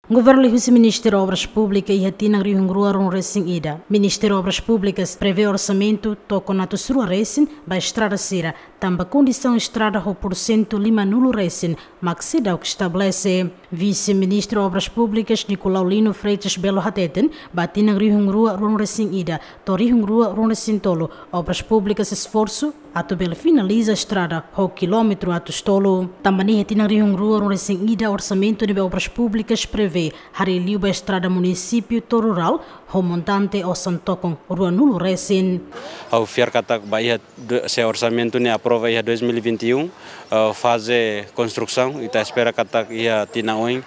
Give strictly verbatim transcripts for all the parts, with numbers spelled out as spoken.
Governu liuhusi Ministériu Obras Públikas iha tinan rihun rua ruanulu-resin-ida, Ministériu Obras Públikas prevee orsamentu tokon atus rua resin ba estrada sira, tanba kondisaun estrada ho porsentu limanulu resin mak seidauk estabelese. Vise-Ministru Obras Públikas Nicolau Lino Freitas Belo hateten, ba tinan rihun rua ruanulu-resin-ida to'o rihun rua ruanulu-resin-tolu, Obras Públikas esforsu atu bele finaliza estrada ho kilómetru atus tolu. Tanba ne'e iha tinan rihun rua ruanulu-resin-ida, orsamentu ne'ebé Obras Públikas prevee harii liu ba estrada munisípiu to'o rurál ho montante osan tokon ruanulu resin. Ha'u fiar katak ba iha do-, se orsamentu ne'e aprova iha dois mil e vinte e um, eh, faze konstrusaun, ita espera katak iha tinan oin,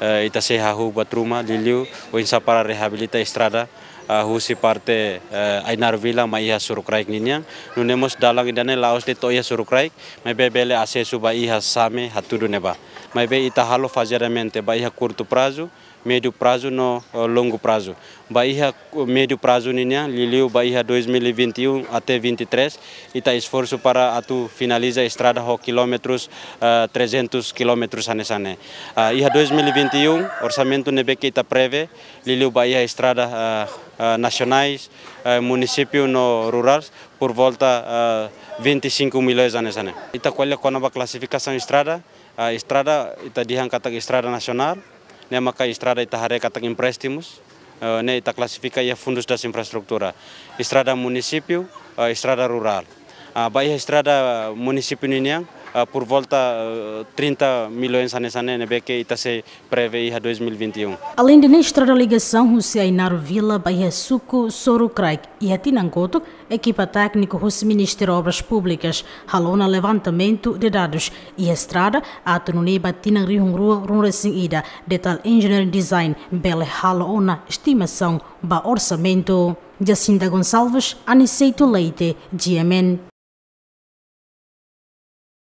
eh, ita sei hahú buat ruma, liuliu oinsá para reabilita estrada, eh, husi parte, eh, Ainaro Vila mai iha Sorokraik ninian. Nune'e mós dalan ida-ne'e la'ós de'it to'o iha Sorokraik, maibé bele asesu ba iha Same hatudu ne'ebá. Maibé ita halo fazeadamente, ba iha kurtu prazu, médiu prazu no, eh, longu prazu. Ba iha ku-, médiu prazu ninian, liuliu ba iha dois mil e vinte e um até vinte e três, ita esforsu para atu finaliza estrada ho kilómetrus, eh, trezentus kilómetrus hanesan ne'e. Ah, iha dois mil e vinte e um, orsamentu ne'ebé ke ita prevee, liuliu ba iha estrada, eh, eh, nasionais, eh, munisípiu no rurál, por volta, eh, vinte e cinco milhões hanesan ne'e. Ita ko'alia kona-ba klasifikasaun estrada, ah, estrada ita dehan katak estrada nasionál, ne'e maka estrada ita haree katak empréstimus, eh, ne'e ita klasifika iha Fundos das Infraestrutura. Estrada munisípiu, eh, estrada rurál. Ah, ba iha estrada munisípiu ninian, ah, por volta, eh, trinta milhões hanesan ne'e, ne'ebé ke ita sei prevee iha dois mil e vinte e um. Aleinde ne'e, estrada ligasaun husi Ainaro Vila ba iha suku Sorokraik, iha tinan kotuk, ekipa tékniku husi Ministériu Obras Públikas halo ona levantamentu de dadus iha estrada, atu nune'e ba tinan rihun rua ruanulu-resin-ida, Detail Engineering Design bele halo ona estimasaun ba orsamentu. Jacinta Gonçalves, Aniceto Leite, G M N.